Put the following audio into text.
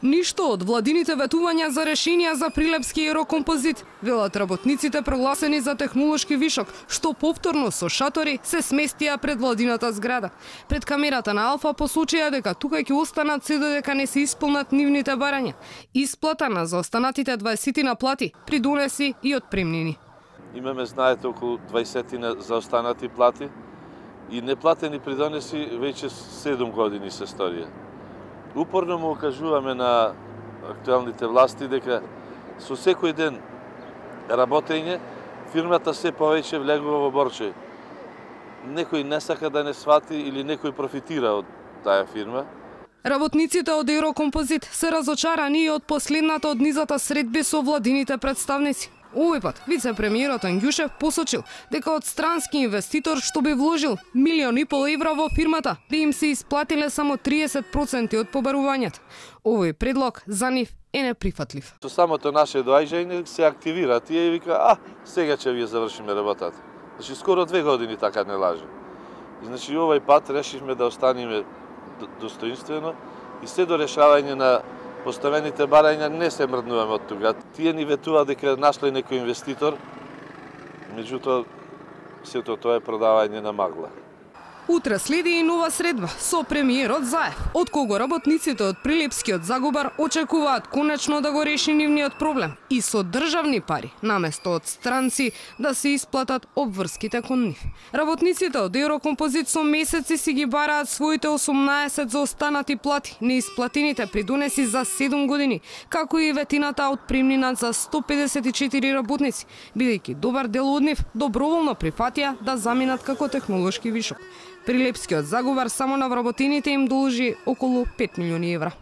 Ништо од владините ветувања за решенија за Прилепски аерокомпозит, велат работниците прогласени за технолошки вишок, што повторно со шатори се сместија пред владината зграда. Пред камерата на Алфа посочија дека тука ќе останат се додека не се исполнат нивните барања. Исплата на заостанатите 20 на плати придонеси и отпремнини. Имаме, знаете, околу 20 заостанати плати и неплатени придонеси веќе 7 години се сторија. Упорно му окажуваме на актуелните власти дека со секој ден работење фирмата се повеќе влегува во борчеј. Некој не сака да не свати или некој профитира од таа фирма. Работниците од Аерокомпозит се разочарани и од последната од низата средби со владините представници. Овој пат вице-премиерот Ангјушев посочил дека од странски инвеститор што би вложил 1,5 милиони евра во фирмата, би им се исплатиле само 30% од побарувањата. Овој предлог за нив е неприфатлив. Со самото наше доаѓање се активира тие и вика, сега ќе вие завршиме работата. Значи скоро 2 години така не лаже. Значи овој пат решивме да останеме достоинствено и се до решавање на поставените барања не се мрднуваме од тука. Тие ни ветува дека нашле некој инвеститор, меѓутоа сето тоа е продавање на магла. Утре следи и нова средба со премиерот Заев, од кого работниците од Прилепскиот Загубар очекуваат конечно да го реши нивниот проблем и со државни пари, наместо од странци да се исплатат обврските кон нив. Работниците од Аерокомпозит со месеци си ги бараат своите 18 заостанати плати, неисплатените придонеси за 7 години, како и ветината отпремнина за 154 работници, бидејќи добар дел од нив доброволно прифатија да заминат како технолошки вишок. Прилепскиот Загубар само на вработените им должи околу 5 милиони евра.